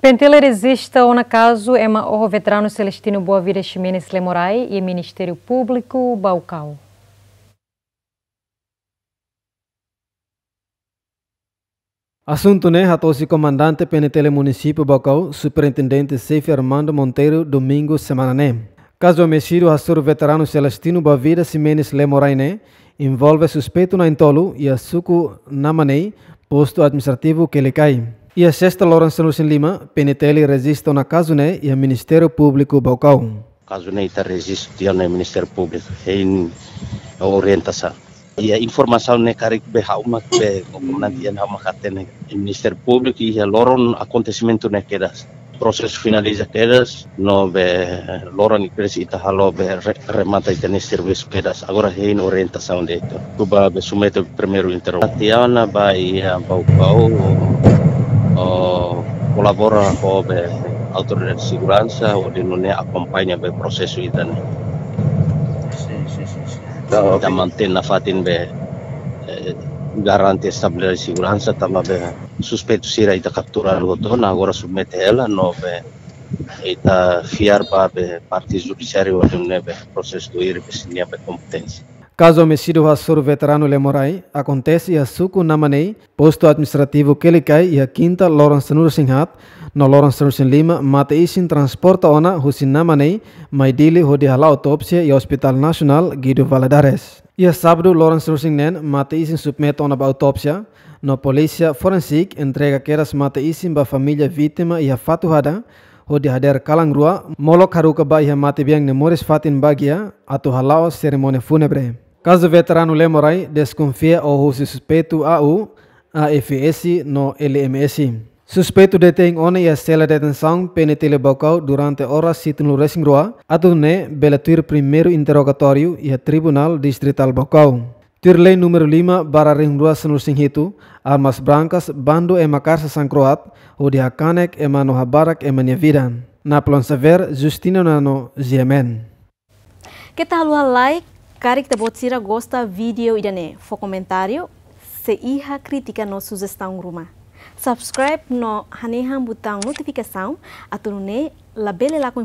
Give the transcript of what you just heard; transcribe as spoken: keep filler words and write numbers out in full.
PNTL rejista ona kazu ema oho veteranu Celestino Boavida Ximenes Lemorai iha Ministériu Públiku Baucau. Asuntu ne'e hato'o husi Komandante PNTL Munisípiu Baucau, Superintendente Xefe Armando Monteiro, Domingu semana ne'e. Kazu omisídiu hasoru veteranu Celestino Boavida Ximenes Lemorai ne'e envolve suspeitu na'in-tolu iha suku Namanei, Postu Administrativu Quelicai. Iha Sesta loron sanulu-resin-lima, PNTL rejista ona kazu ne'e iha Ministériu Públiku Baucau. Kazu ne'e ita rejista tiha ona iha Ministériu Públiku, hein orientasaun. Iha informasaun ne'e karik be ha'u mak be, komandante iha ha'u mak hatene iha Ministériu Públiku iha loron akontesimentu ne'e kedas. Prosesu finaliza kedas, no be loron ne'e kedas ita halo be re-, remata ita-nia servisu kedas. Agora hein orientasaun de'it. Ha'u ba be submete primeiru interrogatóriu. Tiha ona ba iha Baucau, o, kolabora ho be autoridade seguransa, hodi nune'e akompaña be prosesu ida-ne'e. Sin, sin, sin, sin. Ita mantein nafatin be, eh, garante estabilidade seguransa, tanba be suspeitu sira ita kaptura hotu ona, agora submete hela, no be ita fiar ba be parte judisiáriu hodi nune'e be prosesu tuir be sira-nia be kompeténsia. Kazu omisídiu hasoru veteranu Lemorai akontese iha suku Namanei, Postu Administrativu Quelicai, iha Kinta loron sanulu-resin-haat, no loron sanulu-resin-lima mate-isin transporta ona husi Namanei mai Dili hodi hala'o autópsia iha Hospital Nasionál Guido Valadares. Iha Sábadu loron sanulu-resin-neen mate-isin submete ona ba autópsia, no polísia forensik entrega kedas mate-isin ba família vítima iha Fatuhada, hodi hadeer kalan rua, molok haruka ba iha matebian ne'e moris fatin Baguia, atu hala'o serimónia fúnebre. Kazu veteranu Lemorai deskonfia oho husi suspeitu A U, A F S no L M S. Suspeitu detein ona iha sela detensaun PNTL Baucau durante oras hitunulu-resin-rua, atu nune'e bele tuir primeiru interrogatóriu iha Tribunál Distritál Baucau. Tuir lei númeru lima barra rihun rua sanulu-resin-hitu, armas brankas, bandu ema karsa sangkroat, hodi hakanek ema no habarak ema nia vida. Napoleon Xavier, Justino Nano, G M N. Keta haluha like, karik ita-boot sira gosta vídeo ida-ne'e, fó komentáriu, se iha krítika no sujestaun ruma. Subscribe no hanehan butaun notifikasaun, atu nune'e labele lakon